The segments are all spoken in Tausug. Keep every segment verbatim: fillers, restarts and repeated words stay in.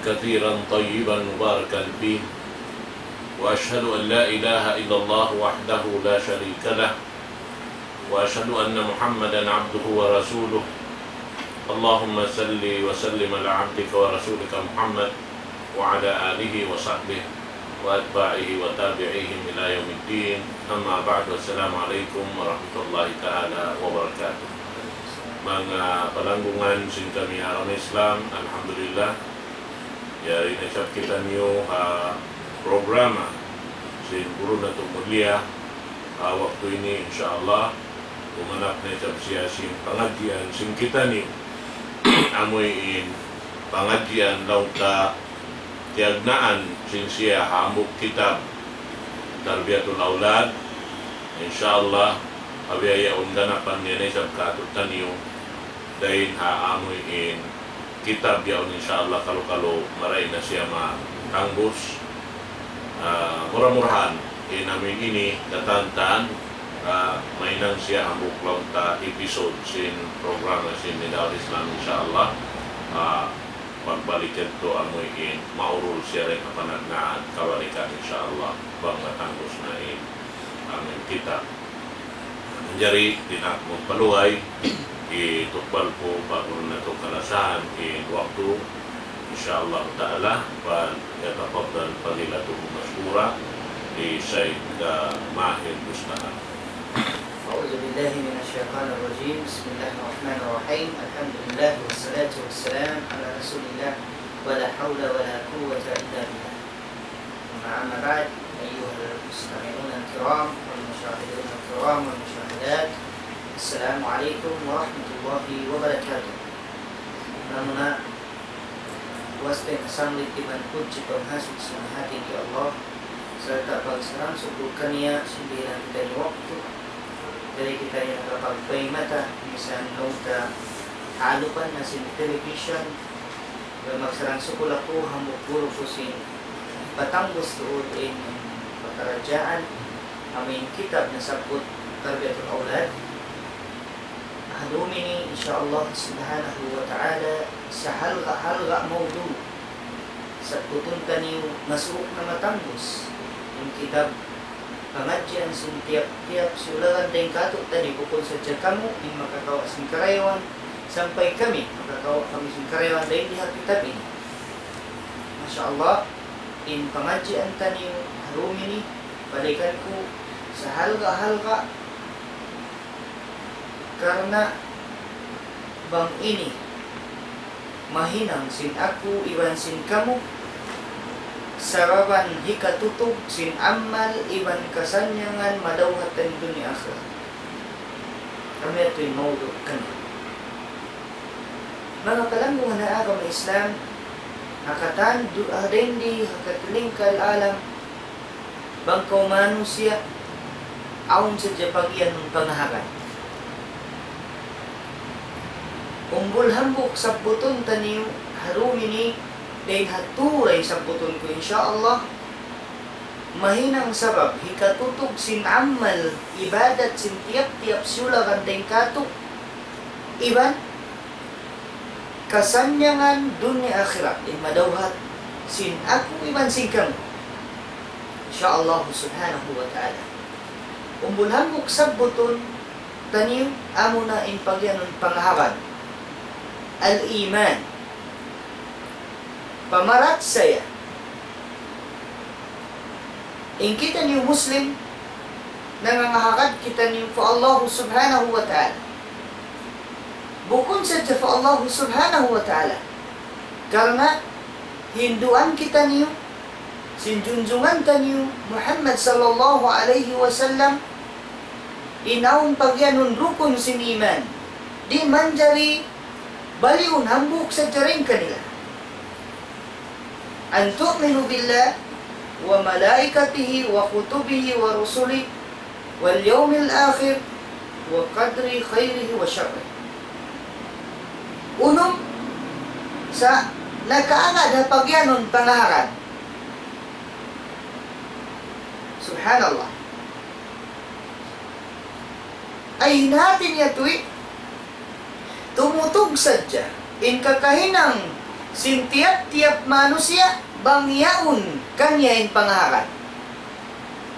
كثيرا طيبا مباركا فيه، وأشهد أن لا إله إلا الله وحده لا شريك له، وأشهد أن محمدا عبده ورسوله. اللهم صل وسلم على عبدك ورسولك محمد وعلى آله وصحبه وأتباعه وتابعيهم إلى يوم الدين. أما بعد، السلام عليكم ورحمة الله تعالى وبركاته. Manga palanggungan sin kami agama Islam, alhamdulillah, yari na isab kitaniyu ha programa sin guru natu' mulia ha waktu ini, insya Allah, dumanak na isab siya sin pangadjian sin kitaniyu. Amuin pangadjian laung ta tiyagnaan sin siya hambuuk kitab Tarbiyatul Awlad. Insya Allah, awi ayaun ganapan niya na isab kātu'niyu dayn ha amuin kitab yaun, insya Allah, kalu-kalu marayaw na siya matangbus. Ah, mura-murahan, in amuin ini, katantan, ah, mahinang siya hambuuk laung ta episode sin programa sin Nida'ul Islam, insya Allah. Ah, pagbalik yadtu amuin maurul siya dayn ha panagnaan kabalikan, insya Allah, bang matangbus na in amuin kitab. Manjari, di' na aku magpaluhay, itukbal ku pa guru natu' kalasahan in waktu, insya Allah ta'ala, فليتفضل فضيلته مشكورا, الشيخ ماهر بستان. أعوذ بالله من الشيطان الرجيم. بسم الله الرحمن الرحيم. الحمد لله والصلاة والسلام على رسول الله ولا حول ولا قوة إلا بالله. ثم أما بعد، أيها المستمعون الكرام والمشاهدون الكرام والمشاهدات، السلام عليكم ورحمة الله وبركاته. Muna-muna, puas dayn ha sanglit iban pudji pangasubu sin hati di Allah, sarta' pagsarang-sukul kaniya sin dihilan kitaniyu waktu, jari kitaniyu nakapagpaymata, misan laung ta ha alupan na sin television, magsarang-sukul aku hambuuk guru ku sin patangbus tuud in pakaradjaan, amuin kitab nasabbut Tarbiyatul Awlad. Ha dum ini, insya Allah subhanahu wa ta'ala, sahalga'-halga' mawdu' sabbutun taniyu masuuk na matangbus in kitab pangadjian sin tiyap-tiyap siyulagan dayn kātu'niyu, bukun sadja kamu in makakawa' sin karayawan, sampay kami makakawa' kami sin karayawan dayn di ha kitab ini. Masha Allah, in pangadjian taniyu ha dum ini, balikan ku, sahalga'-halga', karna' bang ini mahinang sin aku iban sin kamu, sababan hikatutug sin amal iban kasannyangan madawhat taniyu dunya akhirat. Amu yadtu in mawdu' kaniya. Manga palanggungan ha agama Islam, ha katan du-, ha dayn di ha katilingkal alam, bang kaw manusiya', awn sadja pagiyanun pangahagad. Umbul hambuuk sabbutun taniyu ha dum ini, dayn ha turay sabbutun ku, insya Allah, mahinang sabab hikatutug sin amal ibadat sin tiyap-tiyap siyulagan dayn kātu', iban kasannyangan dunya akhirat, in madawhat sin aku iban sin kamu, insya Allah subhanahu wa ta'ala. Umbul hambuuk sabbutun taniyu, amuna in pagiyanun pangahagad, al-iman, pamarachaya. In kitaniyu Muslim, nangangahagad kitaniyu pa Allah subhanahu wa ta'ala. Bukun sadja pa Allah subhanahu wa ta'ala. Karna' hinduan kitaniyu sin junjungan taniyu Muhammad sallallahu alayhi wasallam, in awn pagiyanun rukun sin iman, di' manjari baliun hambuuk sadja dayn kanila. أن تؤمنوا بالله وملائكته وكتبه ورسله واليوم الآخر والقدر خيره وشره. Unum, sa' nakaagad ha pagiyanun pangahagad. Subhanallah. Ay, in hati niya tuwi', tumutug sadja in kakahinang sin tiyap-tiyap manusiya' bang yaun kaniya in pangahagad.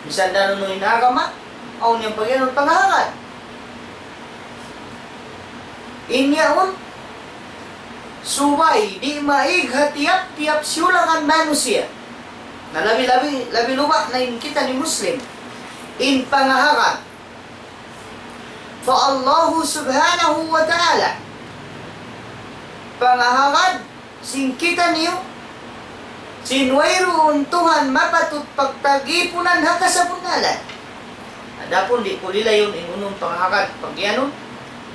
Misan da unu in agama, awn niya in pagiyanun pangahagad. In yaun, subay di' maig ha tiyap-tiyap siyulangan manusiya'. Na labi-labi, labi-labi na in kitaniyu Muslim. In pangahagad. Fa Allahu subhanahu wa ta'ala. Pangahagad sin kitaniyu, sin wayruun Tuhan mapatut pagtagipunan ha kasabunnalan. Adapun di' ku lilayun in unu in pangahagad pagiyanun,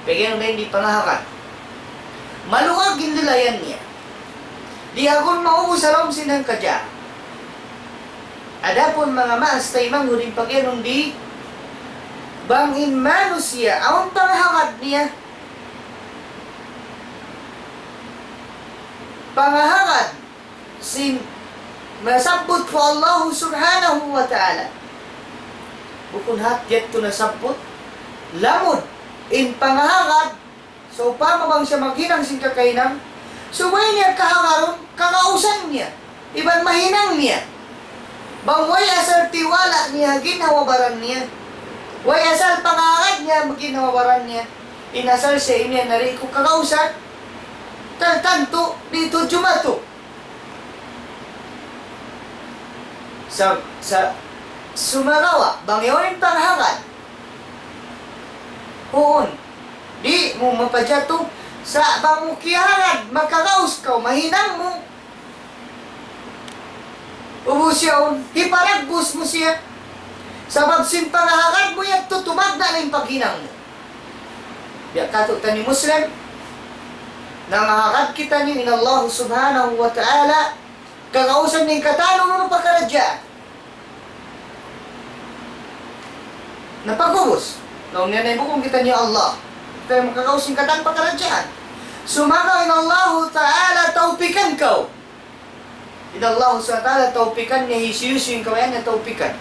pagiyanun dayn di pangahagad. Maluag in lilayan niya. Di' agun maubus ha lawm sin hangkadja. Adapun manga maas taymanghud in pagiyanun di', bang in manusiya', awn pangahagad niya. Pangahagad sin nasabbut pa Allahu subhanahu wa ta'ala. Bukun hat yadtu nasabbut, lamud in pangahagad. Sawpama bang siya maghinang sin kakahinang, subay niya kahagarun, kagausan niya, iban mahinang niya. Bang way asal tiwala' niya ha ginhawa-baran niya, way asal pangahagad niya ha ginhawa-baran niya, in asal siya imiyan na di' ku kagausan, tantu di' tuud jumatu. Sa', sa', sumagawa', bang yaun in pangahagad, huun, di' mu mapajatu, sa' bang mu kiyahagad, makagaus kaw, mahinang mu. Ubus yaun, hiparagbus mu siya. Sabab sin pangahagad mu yadtu tumagna' na in paghinang mu. Biya' katu' taniyu Muslim, nangahagad kitaniyu in Allah subhanahu wa ta'ala, kagausan in katan unu-unu pakaradjaan. Na pag'ubus, laung niya na bukun kitaniyu Allah. Kita makagaus sin katan pakaradjaan. Sumagawa' in Allahu ta'ala tawpikan kaw. In Allah subhanahu wa ta'ala tawpikan niya, hisiyu-siyu in kabayaan niya tawpikan.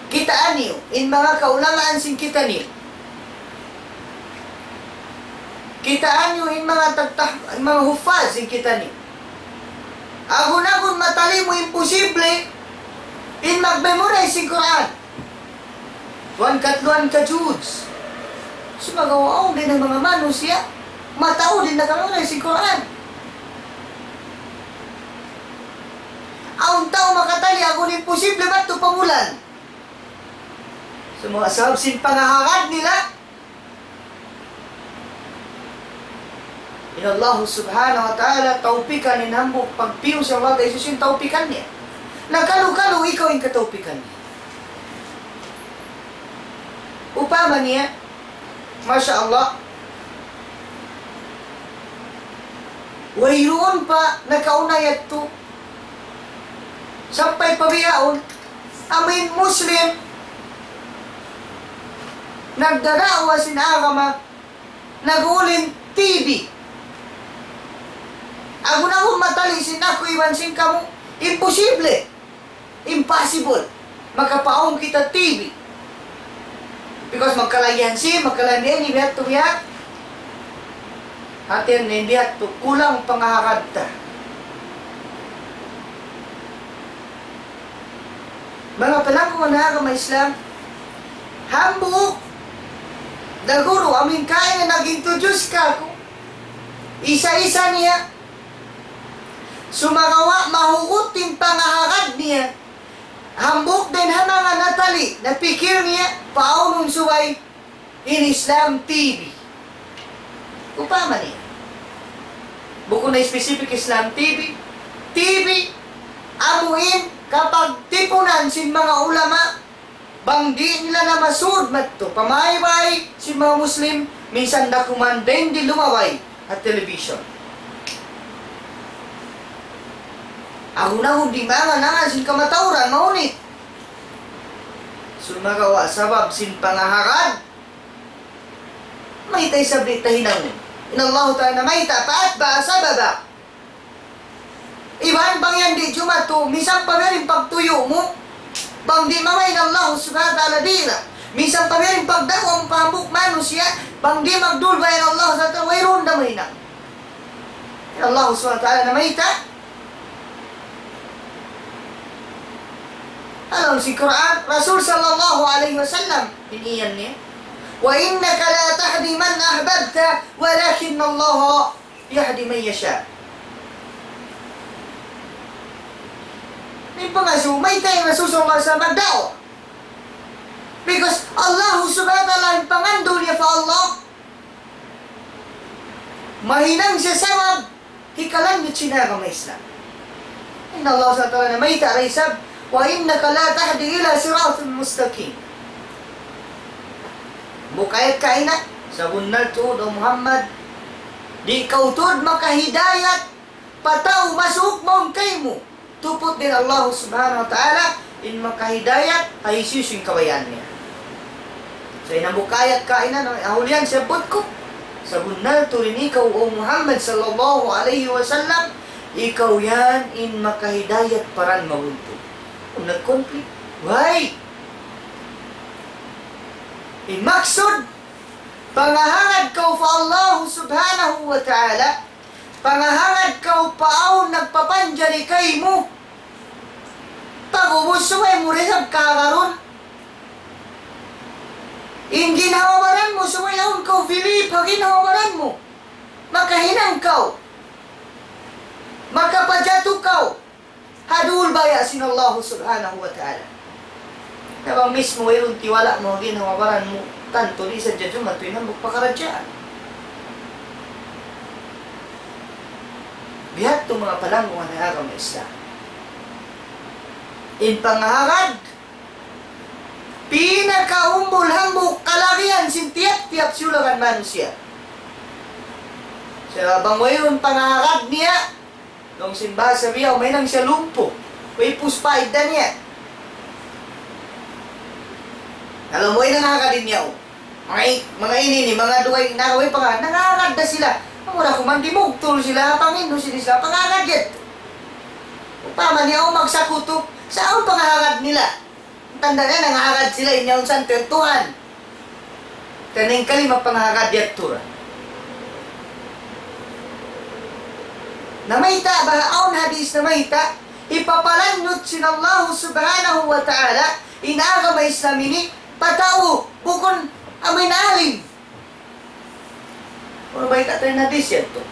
Kitaa niyu, in manga kaulamaan sin kitaniyu. Kitaa niyu in manga tagtah-, in manga huffaz sin kitaniyu. Agun-agun matali mu, imposible in mag-memorize sin Qur'an. Duwa, katluan ka juz. Sumagawa' awn dayn ha manga manusiya', mataud in naka-memorize sin Qur'an. Awn tau makatali agun imposible madtu pa bulan. Sumagawa' sabab sin pangahagad nila, in Allah subhanahu wa ta'ala tawpikan in hambuuk pagpiyu sin Allah, da isu sin tawpikan niya. Na kalu-kalu ikaw in katawpikan niya. Upama niya, masha Allah, wayruun pa nakauna yadtu, sampay pa bihaun, amu in Muslim, nagdada'wa sin agama, nag-uulin T V. Agun-agun matali sin aku iban sin kamu, imposible. Impossible. Makapaun kita T V. Because magkalagihan sin, magkalagihan ini biya' tu biya'. Hati niya biya' tu kulang pangahagad ta. Manga palanggungan ha agama Islam, hambuuk da guru amu in kaina nag-introduce kāku'. Isa-isa niya. Sumagawa' mahugut in pangahagad niya. Hambuuk dayn ha manga natali, napikil niya, paunun subay in Islam T V. Upama niya. Bukun na specific Islam T V. T V, amu in kapagtipunan sin manga ulama, bang di' nila na masud madtu pa maybay sin manga Muslim, minsan da kuman dayn di lumabay ha television. Agun-agun di' mangan-angan sin kamatauran, mahunit. Sumagawa' sabab sin pangahagad, mayta' isab di' ta hinangun. In Allah Ta'ala mayta', فأتبع سببا. Iban bang yan di' jumatu, misan pa biya' diin pagtuyu' mu, bang di' mamaid Allah Subhanahu wa Ta'ala di' na. Minsan pa biya' diin pagda'wa mu pa hambuuk manusiya', bang di' magdulbay in Allah subhanahu wa ta'ala, wayruun da mahinang. In Allah subhanahu wa ta'ala namayta'. Laung sin Qur'an, Rasul sallallahu alayhi wasallam, in iyan niya, وإنك لا تهدي من أحببت ولكن الله يهدي من يشاء. In pangasubu, mayta' in Rasul sallallahu alayhi wasallam nagda'wa. Because Allah subhanahu wa ta'ala, in pangandu' niya pa Allah, mahinang siya sabab hikalanjut sin agama Islam. In Allah subhanahu wa ta'ala namayta' da isab, وإنك لا تهدي إلى صراط مستقيم. Bukayat kaina, sabunnal tuud, O Muhammad, di' kaw tuud makahidayat pa tau masuuk mawn kaymu. Tuput dayn Allah subhanahu wa ta'ala in makahidayat ha hisiyu-siyu in kabayaan niya. Sa' in hambuuk ayat kaina, na ahulian siyabbut ku, sabunnal tuud in ikaw, O Muhammad sallallahu alayhi wasallam, ikaw yan in makahidayat pa dan mabuntul. Kung nag-conflict, why? In maksud, pangahagad kaw pa Allah subhanahu wa ta'ala, pangahagad kaw pa awn nagpapanjari kaymu. Pag'ubus subay mu da isab kahagarun. In ginhawa-baran mu, subay awn kaw believe ha ginhawa-baran mu. Makahinang kaw. Makapajatu kaw ha duul baya' sin Allah subhanahu wa ta'ala. Na bang mismu wayruun tiwala' mu ha ginhawa-baran mu, tantu di' sadja jumatu in hambuuk pakaradjaan. Biya' ha yan manga palanggungan ha agama Islam. In pangahagad, pinakaumbul hambuuk kalagihan sin tiyap-tiyap siyulagan manusiya'. Sa' bang wayruun pangahagad niya, laung sin bahasa biya', mahinang siya lumpu'. Way puspa idda niya. Laung mu, way nangahagad niya, o. Manga i-, manga ini ini, manga dugaing nagaway pa ka, nangahagad da sila. Amura kuman dimugtul sila, panghindu' sila, pangahagad yan. Upama niya, o, magsakutu, sa' awn pangahagad nila. Tanda' niya, nangahagad sila, in yaun santer Tuhan. Taning kalima pangahagad yadtu ra. Namayta' ba, awn hadis namayta', hipapalanjut sin Allah subhanahu wa ta'ala, in agama Islam ini, pa tau, bukun amu in alim. Unu ba in katan hadis yadtu?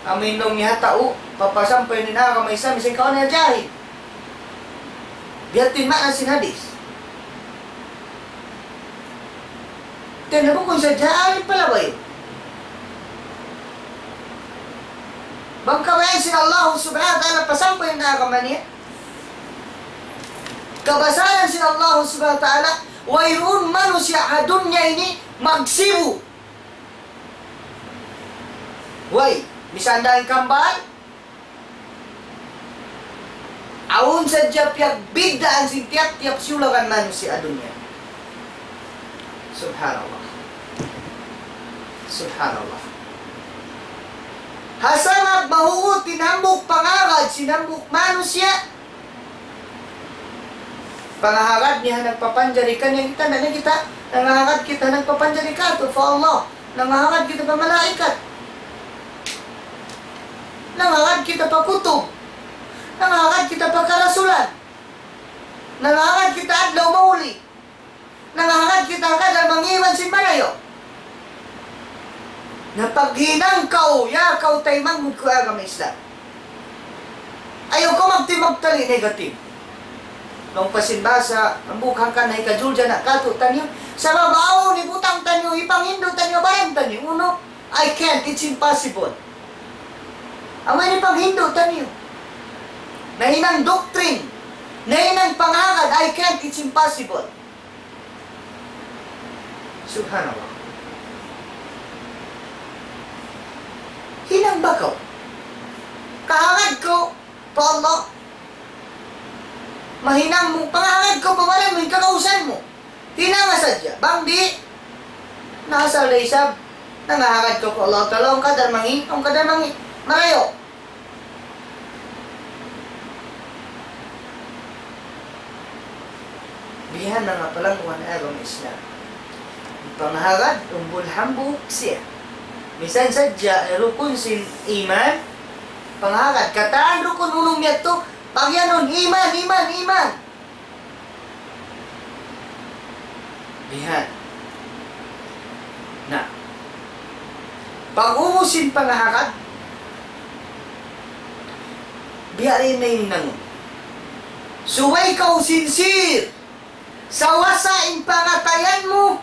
Amu in laung niya ha tau, papasampay niya in agama Islam, misan kaw na jahil. Biya' ha yan in maana sin hadis. Tanda bukun sadja alim pa labay. Bang kabayaan sin Allah subhanahu wa ta'ala pasampay in agama niya. Kabasaran sin Allah subhanahu wa ta'ala, wayruun manusiya' ha dunya ini magsibu'. Way, misan da in kambal, awn sadja piyagbiddaan sin tiyap-tiyap siyulagan manusiya' ha dunya. Subhanallah. Subhanallah. Ha sabab mahugut in hambuuk pangagad sin hambuuk manusiya', pangahagad niya ha nagpapanjari kaniya, kita, na kita, nangahagad kita ha nagpapanjari kātu' pa Allah, nangahagad kita pa malaikat, nangahagad kita pa kutub, nangahagad kita pa karasulan, nangahagad kita adlaw mahuli, nangahagad kita ha kadar mangi' iban sin marayaw. Na paghinang kaw, ya kaw taymanghud ku agama Islam. Ayaw kaw magtimagtali negative. Laung pa sin bahasa, hambuuk hangkan na hikajulja na kātu'niyu. Sabab awn hibutang taniyu, hipanghindu' taniyu, baran taniyu. Unu, I can't, it's impossible. Amu ini panghindu' taniyu. Nahinang doctrine, nahinang pangagad, I can't, it's impossible. Subhanallah. Hinang ba kaw? Kahagad kaw pa Allah. Mahinang mu, pangahagad kaw pa baran mu, in kagausan mu. Hinanga sadja. Bang di', na asal da isab, nangahagad kaw pa Allah Ta'ala, awn kadar mangi', awn kadar mangi'. Marayaw. Bihan na nga palangguan agama Islam. Pangahagad, umbul hambuuk siya. Misan sadja rukun sin iman, pangahagad. Katan rukun unum yadtu, pagiyanun, iman, iman, iman. Bihan. Na. Pag-ubus sin pangahagad, biya' diin na in hinangun. Subay kaw sincere. Sawasa in pangatayan mu,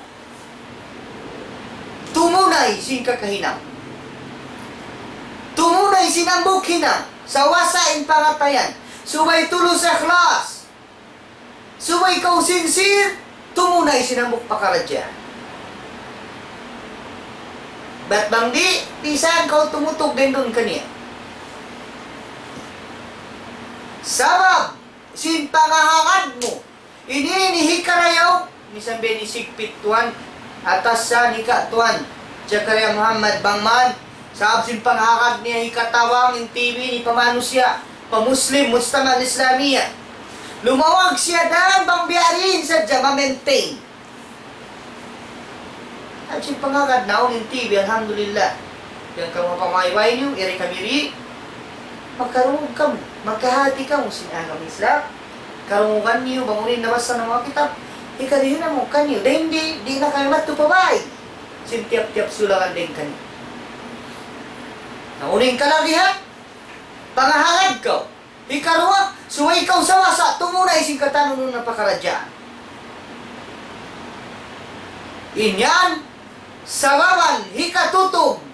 tumunay sin kakahinang. Tumunay sin hambuuk hinang. Sawasa in pangatayan. Subay tulus ikhlas. Subay kaw sincere, tumunay sin hambuuk pakaradjaan. Bat bang di', bisan kaw tumutug dayn duun kaniya. Sabab, sin pangahagad mu, ini, ini hikarayaw, misan biya' ini sigpit tuwan, atasan hika tuwan, Zakaria Muhammad bang man, sabab sin pangahagad niya hikatabang in T V ini pa manusiya', pa Muslim, mujtama' Islamiyah. Lumawag siya dan bang biya' diin sadja ma-maintain. At sin pangagad naun in T V, alhamdulillah. Yan kamu ha pamayway niyu, iri kami ri, makarungug kamu, makahati kamu sin agama Islam. Karungugan niyu, bang unu in nabasa namu' ha kitab, hikariyu namu' kaniyu. Dayn di, di' na kami madtu pa bay sin tiyap-tiyap sulakan dayn kaniyu. Na unu in kalagihan, pangahagad kaw. Hikaruwa, subay kaw sawasa tumunay sin katan unu-unu na pakaradjaan. In yan, sababan hikatutug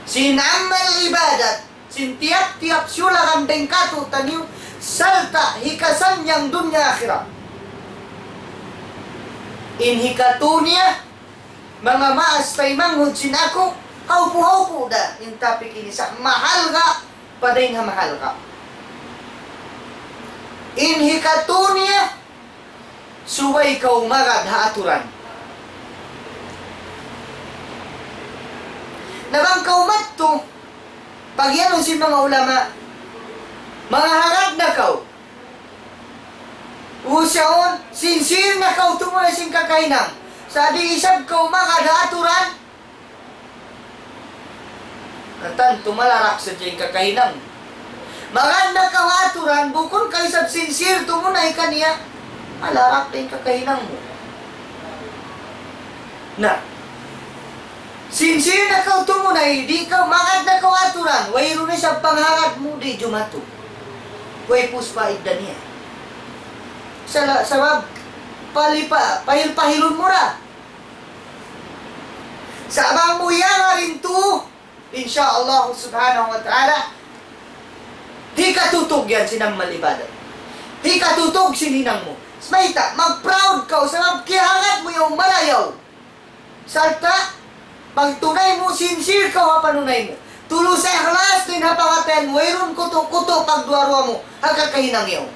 sin amal ibadat, sin tiyap-tiyap sulakan dayn kātu'niyu, sarta' hikasannyang dunya akhirat. In hikatū niya, manga maas taymanghud sin aku, hawpu'-hawpu' da in topic ini sa' mahalga', pa dayn ha mahalga'. In hikatū niya, subay kaw magad ha aturan. Na bang kaw madtu, pagiyanun sin manga ulama, mangahagad na kaw. Uu, siya yaun, sincere na kaw tumunay sin kakahinang. Sa' di' isab kaw magad ha aturan, katan tumalarak sadja in kakahinang. Magad na kaw ha aturan, bukun kaw isab sincere tumunay kaniya, malarak da in kakahinang mu. Na, sincere na kaw tumunay, di' kaw, magad na kaw ha aturan, wayruun na isab panghagad mu, di' jumatu. Way puspa idda niya. Sala-, sabab, palipa-, pahil-pahilun mu ra. Sa' bang mu iyangarin tu, insya Allah subhanahu wa ta'ala, hikatutug yan sin amal ibadat. Hikatutug sin hinang mu. Mayta', mag-proud kaw, sabab kiyahagad mu yan marayaw. Sarta', pagtunay mu, sincere kaw ha panunay mu. Tulus ikhlas dayn ha pangatayan mu, wayruun kutu'-kutu' pagduwa-ruwa mu, ha kakahinang yaun.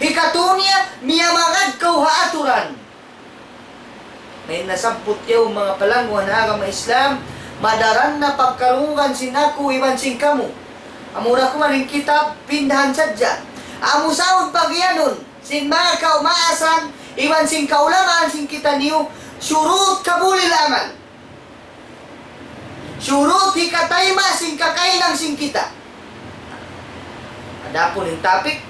Hikatū niya, miyamagad kaw ha aturan. Na in nasabbut yaun manga palangguan ha agama Islam, madaran na pagkarungugan sin aku iban sin kamu. Amura ku man in kitab, pindahan sadja. Amu saud pagiyanun sin manga kaumaasan, iban sin kaulamaan sin kitaniyu, shurut qabulil amal. Shurut hikatayma' sin kakahinang sin kita. Adapun in topic,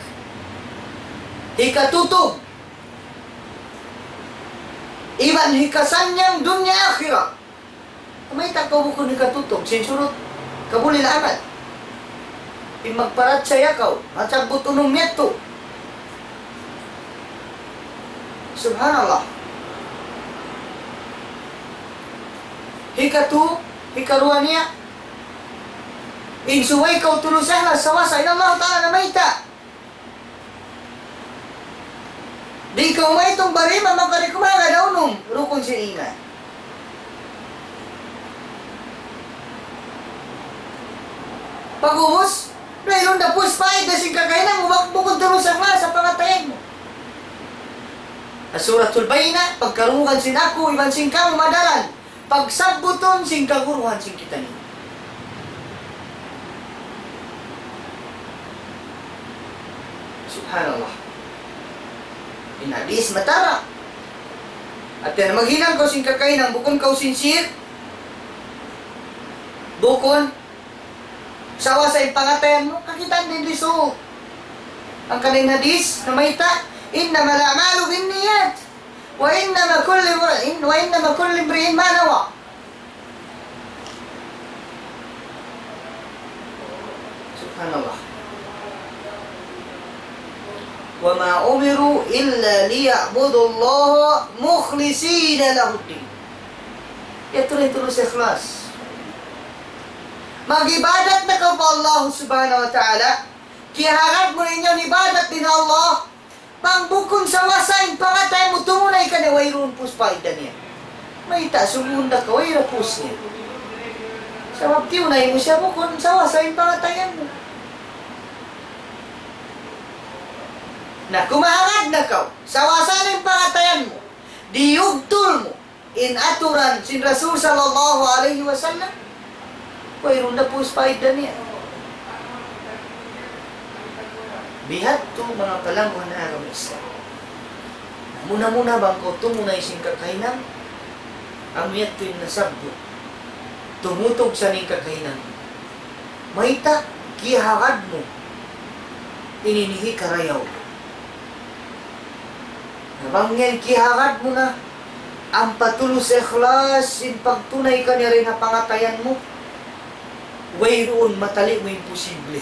hikatutug iban hikasannyang dunya akhirat. Mayta' kaw bukun hikatutug sin shurut qabulil amal? In magparachaya kaw, masabbut unum yadtu. Subhanallah. Hikatū, hikaruwa niya, in subay kaw tulus ikhlas sawasa in Allah Ta'ala na mayta'. Di' kaw maitung bariman, mapari kumaga da unum rukun sin iman. Pag'ubus, wayruun da puspa idda sin kakahinang mu, bang bukun tulus ikhlas ha pangatayan mu. Suratul Bayyinah, pagkarungugan sin aku, iban sin kamu madaran pagsabbutun sin kaguruhan sin kitaniyu. Subhanallah. In hadith matara. Hati niya maghinang kaw sin kakahinang, bukun kaw sincere. Bukun sawasa in pangatayan mu, kakitaan mu in result. Hangkan in hadith, namayta', إنما الأعمال بالنيات، وإنما كل امرئ، وإنما كل امرئ ما نوى. Subhanallah. وما أمروا إلا ليعبدوا الله مخلصين له الدين. Yadtu in tulus ikhlas. Mag-ibadat na kaw pa Allah Subhanahu wa Ta'ala. Kiyahagad mu in ibadat dayn ha Allah. Bang bukun sawasa in pangatayan mu tumunay kaniya, wayruun pus paida niya. Mayta', sumūd na kaw, wayra pus niya. Sabab tiyunay mu siya bukun sawasa in pangatayan mu. Na, kumahagad na kaw, sawasa na in pangatayan mu, diyugtul mu in aturan sin Rasul sallallahu alayhi wasallam, wayruun na pus paida niya. Bihadtu manga palangguan ha agama Islam. Muna-muna bang kaw tumunay sin kakahinang, amu yadtu in nasabbut. Tumutug sa in kakahinang. Mayta', kiyahagad mu in ini hikarayaw. Na bang yan kiyahagad mu na, ampa tulus ikhlas in pagtunay kaniya dayn ha pangatayan mu, wayruun matali' mu imposible.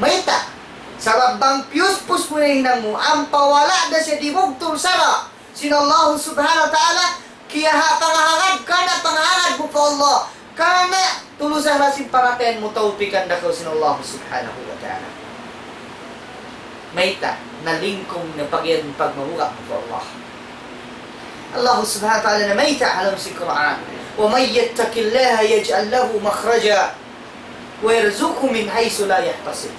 Mayta', sabab bang piyuspus mu na in hinang mu, ampa wala' da siya dimugtul sara' sin Allah Subhanahu wa Ta'ala, kiyaha-, pangahagad, karna' pangahagad mu pa Allah, karna' tulus ikhlas in pangatayan mu, tawpikan da kaw sin Allah Subhanahu wa Ta'ala. Mayta', nalingkung na pag-, yan pagmabuga' mu pa Allah. Allah Subhanahu wa Ta'ala namayta' ha lawm sin Qur'an, ومن يتق الله يجعل له مخرجا ويرزقه من حيث لا يحتسب.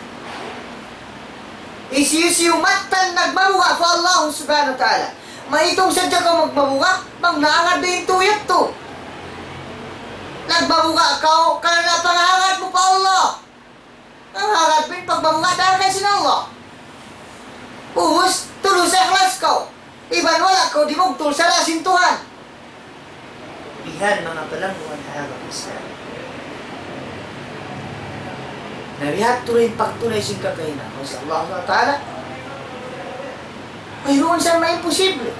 Hisiyu-siyu mattan nagmabuga' pa Allah Subhanahu wa Ta'ala. Maitung sadja kaw magmabuga', bang naangat da in tuyat tu. Nagmabuga' kaw, karna' pangahagad mu pa Allah. Pangahagad mu in pagmabuga' dayn ha sin Allah. Ubus, tulus ikhlas kaw. Iban wala' kaw dimugtul sara' sin Tuhan. Bihan manga palangguan ha agama Islam. Na bihadtu in pagtunay sin kakahinang sin Allah Subhanahu wa Ta'ala. Wayruun sa maimposible.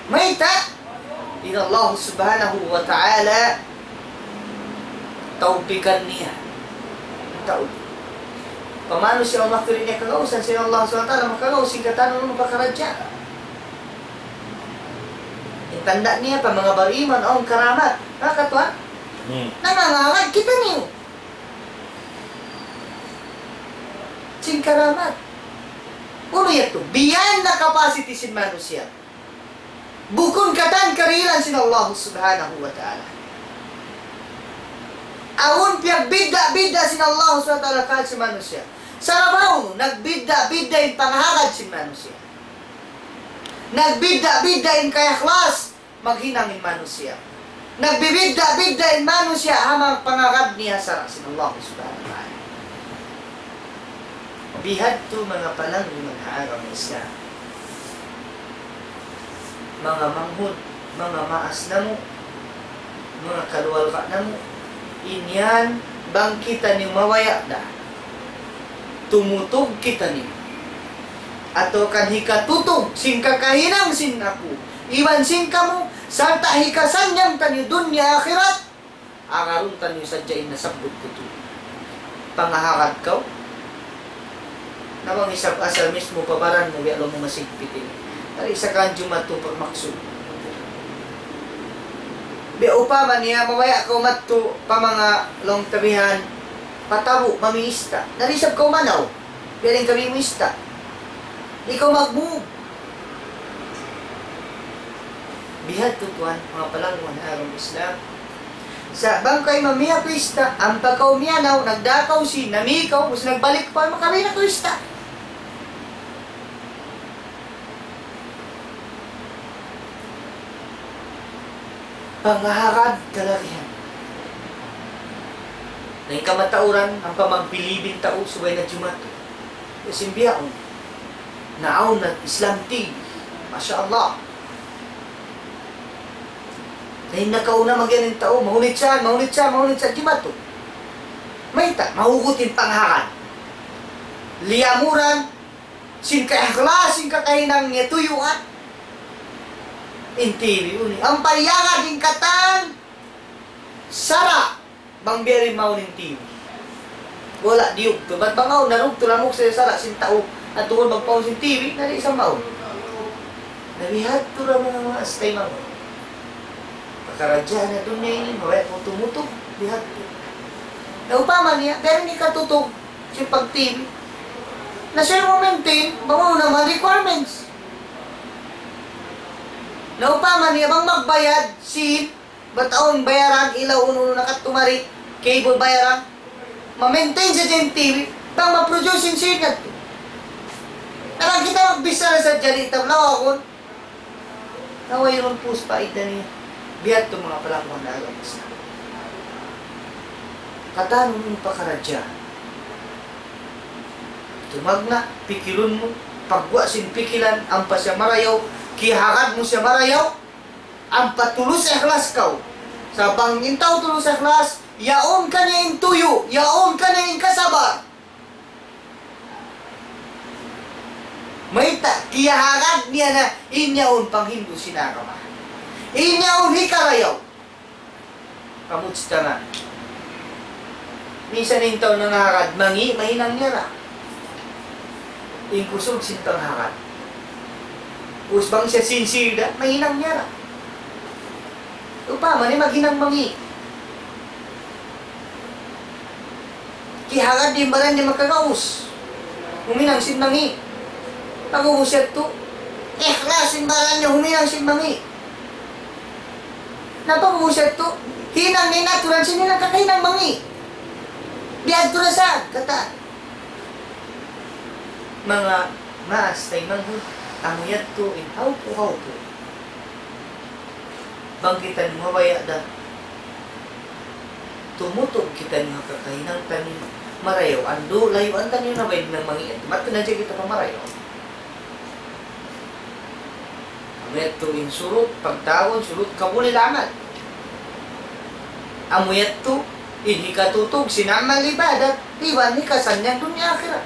Mayta', in Allah Subhanahu wa Ta'ala tawpikan niya in tau. Pamanu siya, Allah, tuud niya kagausan, sin Allah Subhanahu wa Ta'ala makagaus sin katan unu pakaradjaan. In tanda' niya pa manga bariman, awn karamat. Maka tuwan, hmm, nangangahagad kitaniyu sin karamat. Unu yadtu? Biya' na capacity sin manusiya'. Bukun katan karihilan sin Allah Subhanahu wa Ta'ala. Awn piyagbidda'-bidda' sin Allah Subhanahu wa Ta'ala kahagad sin manusiya'. Sabab unu, nagbidda'-bidda' in pangahagad sin manusiya'. Nagbidda'-bidda' in kaikhlas maghinang in manusiya'. Nagbibidda'-bidda' in manusiya' ha manga pangagad niya sara' sin Allah Subhanahu wa Ta'ala. Bihadtu manga palangguan ha agama Islam. Manga manghud, manga maas namu', manga kaluarga namu', in yan bang kitaniyu mabaya' da, tumutug kitaniyu, atawa kan hikatutug sin kakahinang sin aku iban sin kamu, sarta' hikasannyang taniyu dunya akhirat, agarun taniyu sadja in nasabbut ku tu. Pangahagad kaw. Na bang isab asal mismu pa baran mu, biya' laung mu masigpit ini. Dari sa kan jumatu pa maksud. Biya' upama niya, mabaya' kaw madtu pa manga laung ta bihan, pa Tabu', mami ista'. Dari isab kaw manaw, biya' diin kami mu ista'. Di' kaw mag-move. Bihadtu tuwan, manga palangguan ha agama Islam. Sa' bang kaw mamiya' ku ista', ampa kaw miyanaw, nagdakaw sin, nami kaw, ubus nagbalik pa, makabina ku ista'. Pangahagad kalagihan. Na in kamatauran, ampa magbilib in tau, subay na jumatu. Kasi biyaun. Naawn na Islam T V. Masha Allah. Na in nakauna magiyan in tau, mahunit siya, mahunit siya, mahunit siya, di' matu. Mayta', mahugut in panghagad. Liyamuran, sin kaikhlas, sin kakahinang niya tuyuan. In T V, unu. Ampa iyagad in katan, sara'. Bang biya' diin mawn in T V. Wala' diyugtu'. Bat bang awn, narugtu' lamuk sa sara' sin tau. At tukul magpaun sin T V, na di' sa mawn. Na bihadtu ra manga maas taymanghud. Pakaradjaan ha dunya ini, mabaya' pa tumutug, bihadtu. Na upama niya, biya' diin hikatutug, sin pag-T V. Na siya mu-maintain, bang unu na manga requirements. Na upama niya, bang magbayad, sin Bat awn bayaran, ilaw unu-unu na kadtu mari, cable bayaran. Ma-maintain sadja in T V, bang ma-produce in signal. Na bang kita magbichara sadja di' ta lawagun. Na wayruun pus paida niya. Bihadtu manga palangguan ha agama Islam. Katan mu in pakaradjaan. Tumagna', pikilun mu, pagguwa' sin pikilan, ampa siya marayaw, kiyahagad mu siya marayaw, ampa tulus ikhlas kaw. Sa' bang in tau tulus ikhlas, yaun kaniya in tuyu', yaun kaniya in kasabar. Mayta', kiyahagad niya na in yaun panghindu' sin agama. In yaun hikarayaw. Kamujtama'. Minsan in tau nangahagad, mangi', mahinang niya ra. In kusug sin panghagad. Ubus bang siya sincere da, mahinang niya ra. Upama niya maghinang mangi'. Kiyahagad in baran niya makagaus. Huminang sin mangi'. Pag'ubus yadtu, ikhlas in baran niya huminang sin mangi'. Na pag'ubus yadtu, hinang niya in aturan sin hinang kakahinang mangi'. Bihadtu ra sa, katan. Manga maas taymanghud, amu yadtu in hawpu'-hawpu'. Bang kitaniyu mabaya' da, tumutug kitaniyu ha kakahinang taniyu marayaw, andu' layuan taniyu na bay hinang mangi'. Mattu na hadja kita pa marayaw. Amu yadtu in surut, pagtawagun surut qabulil amal. Amu yadtu in hikatutug sin amal ibadat, iban hikasannyang dunya akhirat.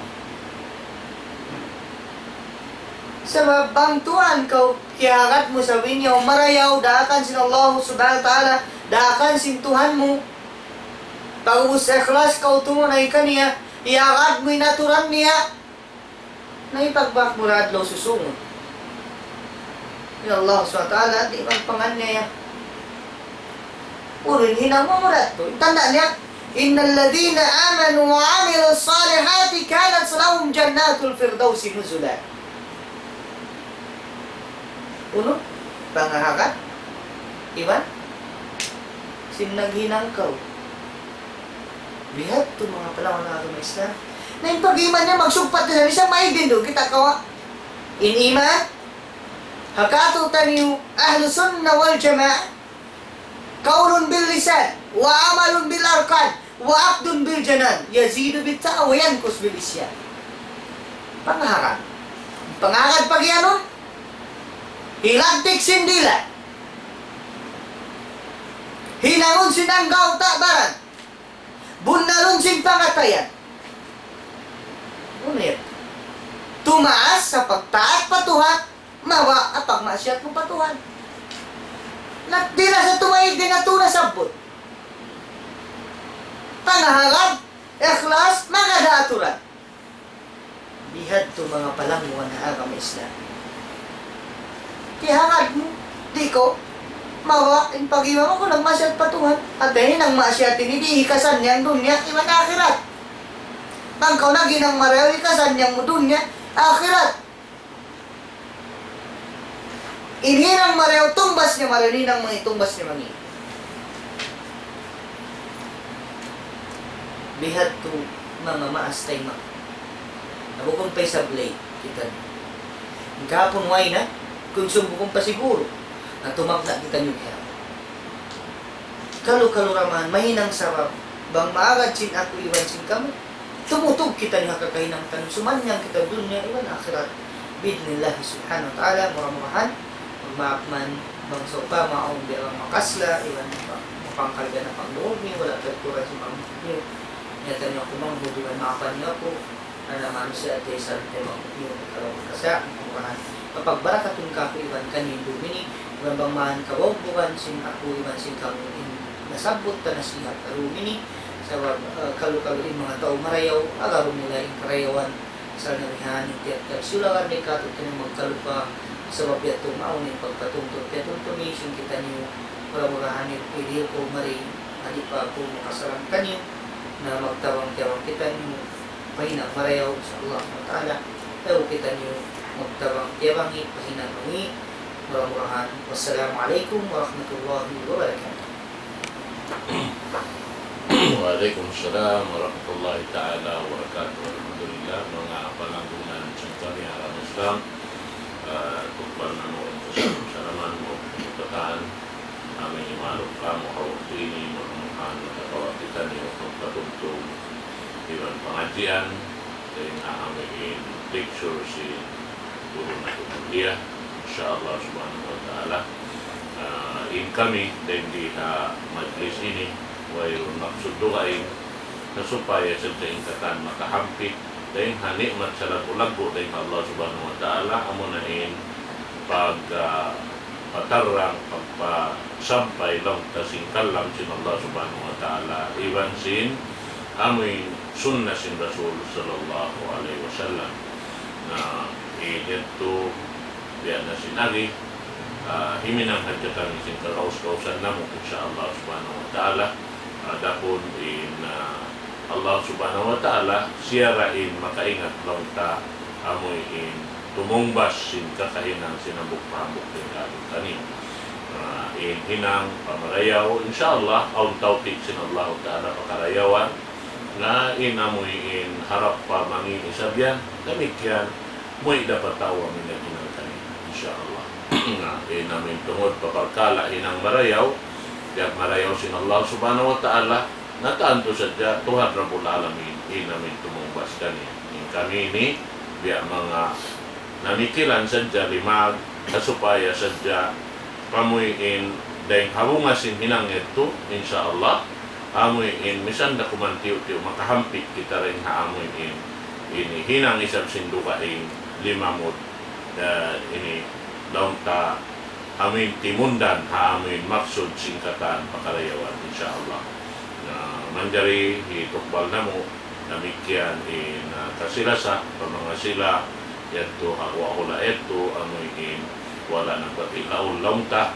Sabab bang tuwan kaw kiyahagad mu sa' biya' marayaw daakan sin Allah Subhanahu wa Ta'ala, daakan sin Tuhan mu. Pag'ubus ikhlas kaw tumunay kaniya, iyagad mu in aturan niya. Na hipagbak mu da adlaw susungun. In Allah Subhanahu wa Ta'ala di' magpanganiaya. Unu in hinang mu, mura yadtu. Tanda' niya, إن الذين آمنوا وعملوا الصالحات كانت لهم جنات الفردوس نزلا. Unu? Pangahagad? Iban? Sin naghinang kaw. Bihadtu manga palangguan ha agama Islam. Na in pag-iman niya magsugpat na sa' bisan maig duun kita kawa'. In iman, ha katu'taniyu, Ahlus Sunnah wal Jamaah, قول باللسان، وعمل بالأركان، وعقد بالجنان، يزيد بالطاعة وينقص بالعصيان. Pangahagad. Pangahagad pag-iyanun, hilagtik sin dila'. Hinangun sin anggawta' baran. Bunnalun sin pangatayan. Unu yan? Tumaas ha pagtaat pa Tuhan, mababa' ha pagmaksiyat mu pa Tuhan. Na, di' na sa' tumaig, di' na tuud nasabbut. Pangahagad, ikhlas, manga da aturan. Bihadtu manga palangguan ha agama Islam. Kiyahagad mu, di' kaw, mababa' in pag-iman mu kaw nagmaksiyat pa Tuhan. Hati niya in maksiyat ini di' hikasannyang dunya iban akhirat. Bang kaw naghinang marayaw hikasannyang mu dunya, akhirat. In hinang marayaw tungbas niya marayaw, in hinang mangi' tungbas niya mangi'. Bihadtu manga maas taymanghud. Na bukun pa isab late kitaniyu. In kahapun way na, kunsum bukun pa siguru. Na tumagna' kitaniyu bihaun. Kalu-kalu ra man, mahinang sabab, bang maagad sin aku iban sin kamu, tumutug kitaniyu ha kakahinang taniyu, sumannyang kita dunya iban akhirat. Bi'idhnillahi subhanahu wa ta'ala, mura-murahan, magmaap man bang sawpama awn biya' bang makasla, iban pa-, mapangkal ka na pangluug niyu, wala' pagkuran sin pangluug niyu. Niyatan niyu aku manghud iban maapan niyu aku, karna' manusiya' at least sabi tayo manghud niyu, kalau makasla, mura-murahan. Mapagbarakatun kaku' iban kaniyu in dum ini, iban bang man kabugbugan sin aku iban sin kamu in nasabbut ta nasihat ha dum ini, sabab, eh, kalu-kalu in manga tau marayaw, agarun nila in karayawan, Sa' nabihan in tiyap-tiyap sila, di' kātu'niyu magkalupa, sabab yadtu mawn in pagpatumtum, piyatumtumi sin kitaniyu, mura-murahan in pidihil ku mari, di' pa aku makasalam kaniyu, na magtabang-tiyabang kitaniyu, pa hinang marayaw, insya Allah subhanahu wa ta'ala, daw kitaniyu magtabang-tiyabangi, pa hinang mangi', mura-murahan. Wassalamu alaykum warahmatullahi wabarakatuh. Wa alaykum salam warahmatullahi ta'ala wabarakatuh. Alhamdulillah, manga palanggungan sin kami ha agama Islam, ah, tukbal namu' in kasalaman mu, katān, amu in imaluk kamu ha waktu ini, mura-murahan nakakawa' kitaniyu pagpatumtum iban pangadjian, dayn ha amu in lecture sin guru natu' mulia, insya Allah subhanahu wa ta'ala. Ah, in kami, dayn di ha majlis ini, wayruun maksud dugaing, na supaya sadja in katān makahampit, dayn ha ni'mat salaggu'-laggu' dayn ha Allah subhanahu wa ta'ala, amuna in pag, ah, patarrang, pagpasampay laung ta sin kalam sin Allah subhanahu wa ta'ala, iban sin amu in sunnah sin Rasul sallallahu alayhi wasallam. Na, eh, yadtu, biya' na sin agi, ah, himinang hadja kami sin kagaus-gausan namu', insya Allah subhanahu wa ta'ala. Adapun in, ah, Allah subhanahu wa ta'ala, siya ra in makaingat laung ta amu in tumungbas sin kakahinang sin hambuuk pa hambuuk dayn kātu'niyu. Ah, in hinang pamarayaw, insya Allah, awn tawpik sin Allah ta'ala pakarayawan, na in amu in harap pa mangi' isab yan, damikkiyan, muwi' da pa tau amu in naghinang kaniya, insya Allah. Na, in amu in tungud pa parkala' hinang marayaw, piyagmarayaw sin Allah subhanahu wa ta'ala, na tantu sadja Tuhan Rabbul Alamin, in amu in tumungbas kaniya. In kami ini, biya' manga namikilan sadja limag, ha supaya sadja kamu in dayn ha bunga sin hinang yadtu, insya Allah, amu in misan da kuman tiyu'-tiyu' makahampit kita dayn ha amu in, ini hinang isab sin dugaing limamud, eh, ini laung ta amu in timundan ha amu in maksud sin katān pakarayawan, insya Allah. Na manjari hitukbal namu', damikkiyan in, ah, kasilasa, pa manga sila, yadtu ha hula' yadtu, amu in wala' nagpatilaun laung ta,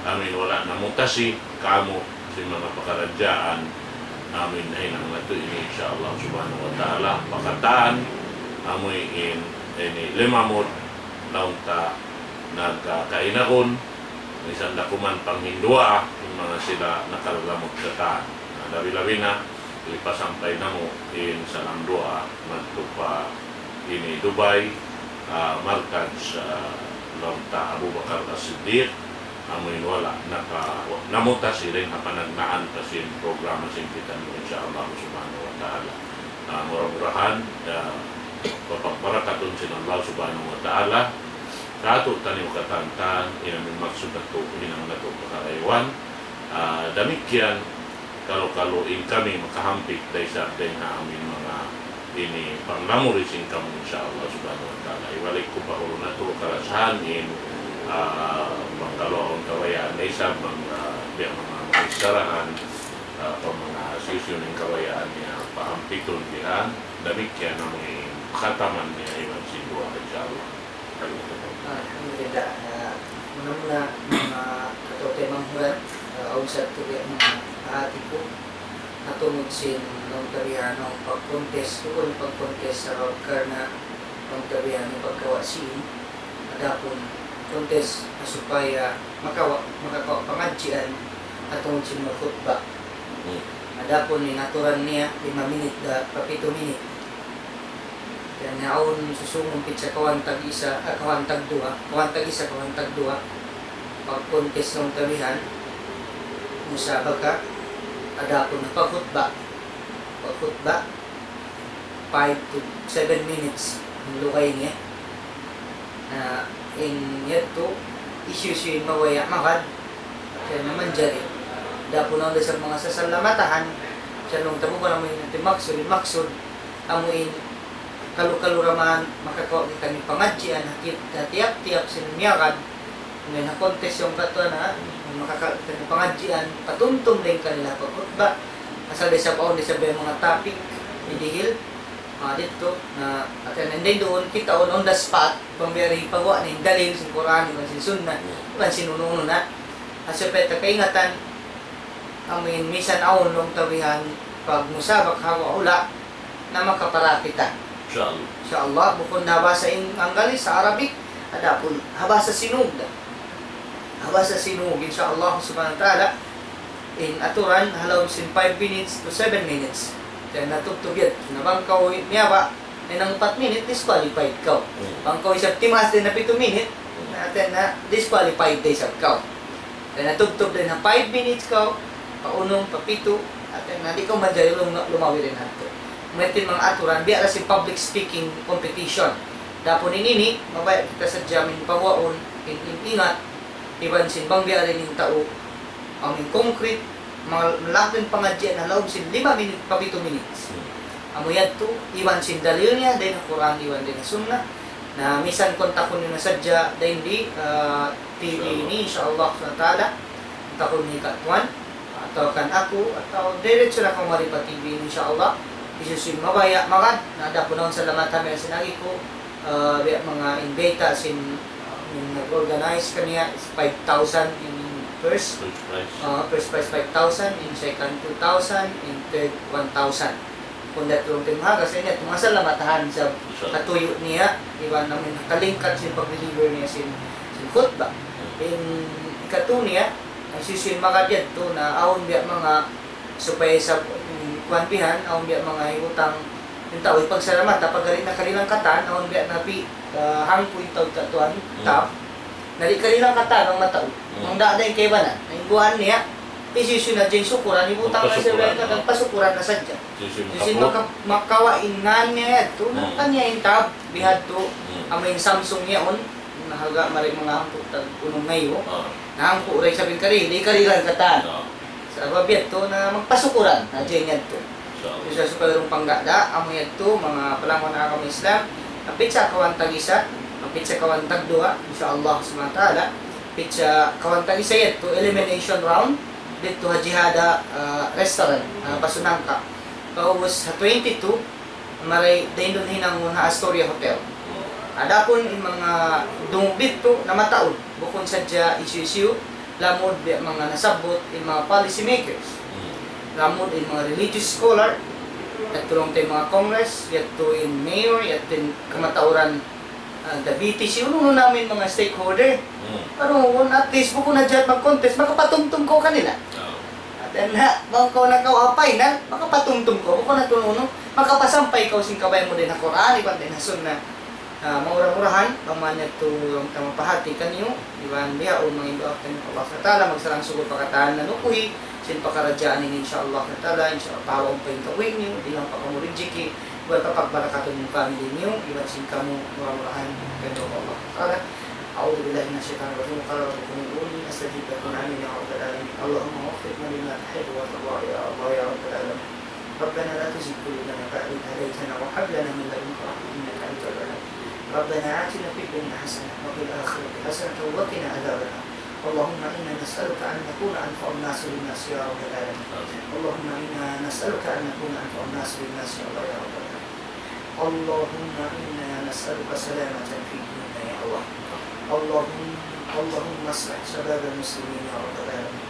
amu in wala' namutasi, kamu, sin manga pakaradjaan, amu in nahinang natu' ini, insya Allah subhanahu wa ta'ala, pa katān, amu in, ini limamud, laung ta, nagkakainagun, misan da kuman panghinduwaa, in manga sila nakalalamud katān. Na, labi-labi na, ipasampay namu' in salam duwaa madtu pa ini Dubai, ah, markaz, ah, laung ta Abu Bakar As-Siddiq, amu in wala' naka-, namutasi dayn ha panagnaan pa sin programa sin kitaniyu, insya Allah subhanahu wa ta'ala. Ah, mura-murahan, ah, papagbarakatun sin Allah subhanahu wa ta'ala, kātu'niyu katān-katān, in amu in maksud natu', hinang natu' pakarayawan. Ah, damikkiyan, kalu-kalu in kami makahampit da isab dayn ha amu in manga ini panglamud sin kamu, insya Allah subhanahu wa ta'ala. Hibalik ku pa guru natu' kalasahan in, ah, pangkaluaun kabayaan da isab, manga, biya' manga magsarahan, ah, pa manga siyusiyun in kabayaan niya pahampitun bihan, damikkiyan amu in khataman niya iban sin duwaa, insya Allah. Alhamdulillah. Ah, muna-muna, manga kataw-taymanghuran, manghuran, ah, awn sa tuwi' manga hati ku, ha tungud sin laung ta bihan, awn pag-contest, bukun pag-contest, sabab karna' laung ta bihan, pagkawa' sin, adapun contest, ha supaya makawa', makakawa' pangadjian, ha tungud sin magkhutba. Hmm. Adapun in aturan niya, lima minit da pa pitu minit. Yan, awn susungun pitsa kawhaan tag-isa, ah, kawhaan tagduwa, kawhaan tag-isa, kawhaan tagduwa. Pag-contest laung ta bihan, musabaka, adapun pagkhutba. Pagkhutba, five to seven minutes in lugay niya. Na in yadtu, hisiyu-siyu in mabaya' magad, kaya na manjari. Adapun awn da isab manga sasalamatahan, sa' laung ta bukun amu in maksud, in maksud, amu in kalu-kalu ra man makakawa' kita sin pangadjian, ha ti-, ha tiyap-tiyap sin miyagad, amu in ha contest yaun katu' na, makakawa' kita sin pangadjian, patumtum dayn kanila pagkhutba, asal da isab awn da isab manga topic, didihil, ah, didtu, na, at, and then duun, kitaun on the spot, bang biya' ri hipaguwa' na in dalil sin Qur'an, iban sin Sunnah, iban sin unu-unu na. Ha supaya ta kaingatan, amu in misan awn laung ta bihan pagmusabak ha hula', na makapara kita. Insha Allah. Insha Allah, bukun na ha bahasa Ing-, Anggalis, ha Arabic, adapun ha bahasa Sinug da. Ha bahasa Sinug, insha Allah subhanahu wa ta'ala, in aturan, ha lawm sin five minutes to seven minutes. Kaya natubtub yan. Na bang kaw miyaba', in hangka upat minute, disqualified kaw. Hmm. Bang kaw isab timaas dayn ha pitu minute, hmm, na, na disqualified da isab kaw. Kaya natubtub dayn ha five minutes kaw, pa unum, pa pitu, at na di' kaw manjari lum-, lumawi dayn hadtu. Mayta' in manga aturan, biya' da sin public speaking competition. Adapun ini, mabaya' kita sadja amu in paguwaun, in, in ingat, iban sin bang biya' diin in tau, amu in concrete, mal-, malakun pangadjian ha lawm sin lima minute pa pitu minutes. Hmm. Amu yadtu, iban sin dalil niya, dayn ha Qur'an, iban dayn ha Sunnah. Na misan kontakun niyu na sadja, dayn di, ah, T V ini, insha Allah subhanahu wa ta'ala. Kontakun niyu kan tuwan, atawa kan aku, atawa diretso na kaw mari pa T V ini, insha Allah. Hisiyu-siyu in mabaya' magad, na adapun awn salamatan, manga sin agi ku, ah, biya' manga in bayta' sin, ah, in nag-organize kaniya is five thousand in first, first prize. Ah, first prize five thousand, in second two thousand, in third one thousand. Bukun da tuud in mahaga, sa' ini, manga salamatahan sa' katuyu' niya, iban amu in kalingkat sin pag-deliver niya sin, sin khutbah. In ikatu niya, hisiyu-siyu in magad yadtu na awn biya' manga supaya sa, mm, kuwan bihan, awn biya' manga hibutang in tau, hipagsalamatan, pag-ari na kanilang katan, awn biya' na pi-, ah, hangpu' in tau katuan, hmm, tab. Na di' kanilang katan bang mataud. Hmm. Bang da-, da in kaibanan. Na in buhan niya, hisiyu-siyu na dyan sukuran, hibutang na siya katan, pasukuran na sadja. Hisiyu-siyu maka-, makawa' in ngan niya yadtu, hmm, na kaniya in tab, bihadtu, hmm, amu in Samsung yaun, na haga mari manga hangpu' tag unum ngaibu. Ah. Na hangpu' ra isab in kari, di' kanilang katan. Ah. Sabab yadtu na magpasukuran, na dyan yadtu. Insha Allah. Isa supaya rung pangga' da, amu yadtu, manga palangga' ha agama Islam, hangkan sa kawan tag-isa, hangkan sa kawan tagduwa, insha Allah subhanahu wa ta'ala, hangkan sa kawan tag-isa yadtu, elimination round, didtu ha Jihada, ah, restaurant, ah, Basunangka. Pag'ubus ha twenty-two, mari dayn duun hinangun ha Astoria Hotel. Adapun in manga dungug didtu na mataud, bukun sadja hisiyu-siyu, lamud biya' manga nasabbut in manga policy makers. Hmm. Lamud in manga religious scholar, yadtu laung ta in manga congress, yadtu in mayor, yadtu in kamatauran, ah, Davite, hisiyu-unu na amu in manga stakeholder. Hmm. Amu in at least bukun na hadja mag-contest, makapatumtum kaw kanila. Oh. At then, ha, bang kaw nakawa' ha final, makapatumtum kaw. Bukun na tuud unu, makapasampay kaw sin kabaya' mu dayn ha Qur'an, iban dayn ha Sunnah. Ah, mura-murahan, bang man yadtu in mapahati kaniyu, iban bihaun mangayu' duwaa kaniyu pa Allah subhanahu wa ta'ala, magsarang-sukul pa katan nanukuhi, sin pakaradjaan ini, insha Allah ta'ala, insha Allah, pahawaun pa in kabuhi' niyu, di' lang pa kamu rijiki, iban papagbarakatun in family niyu, iban sin kamu, mura-murahan, kaniyu pa Allah ta'ala. أعوذ بالله من الشيطان الرجيم. قال ربكم ادعوني أستجب لكم. آمين يا رب العالمين. اللهم وفقنا لما تحب وترضى يا الله يا رب العالمين. ربنا لا تزغ قلوبنا بعد إذ هديتنا وهب لنا من لدنك رحمة إنك أنت الوهاب. ربنا آتنا في الدنيا حسنة وفي الآخرة حسنة وقنا عذاب النار. اللهم إنا نسألك أن نكون أنفع الناس للناس يا رب العالمين. اللهم إنا نسألك أن نكون أنفع الناس للناس يا الله يا رب العالمين. اللهم إنا نسألك سلامة في ديننا يا الله. اللهم، اللهم أصلح شباب المسلمين يا رب العالمين.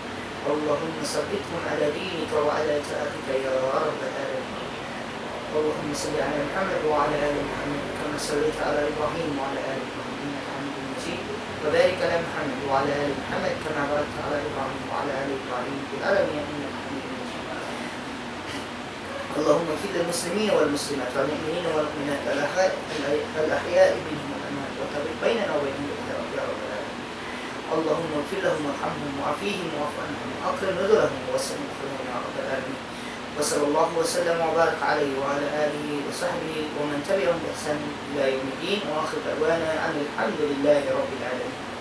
اللهم ثبتهم على دينك وعلى طاعتك يا رب العالمين. اللهم صل على محمد وعلى آل محمد كما صليت على إبراهيم وعلى آل إبراهيم إنك حميد مجيد. وبارك على محمد وعلى آل محمد كما باركت على إبراهيم وعلى آل إبراهيم في العالمين إنك حميد مجيد. اللهم اغفر للمسلمين والمسلمات والمؤمنين والمؤمنات الأحياء، الأحياء منهم والأموات وتابع بيننا وبينهم بالخيرات يا رب العالمين. اللهم اغفر لهم وارحمهم وعافهم واعف عنهم وأكرم نزلهم ووسع مدخلهم يا رب العالمين. وصلى الله وسلم وبارك عليه وعلى آله وصحبه ومن تبعهم بإحسان إلى يوم الدين، وآخر دعوانا أن الحمد لله رب العالمين.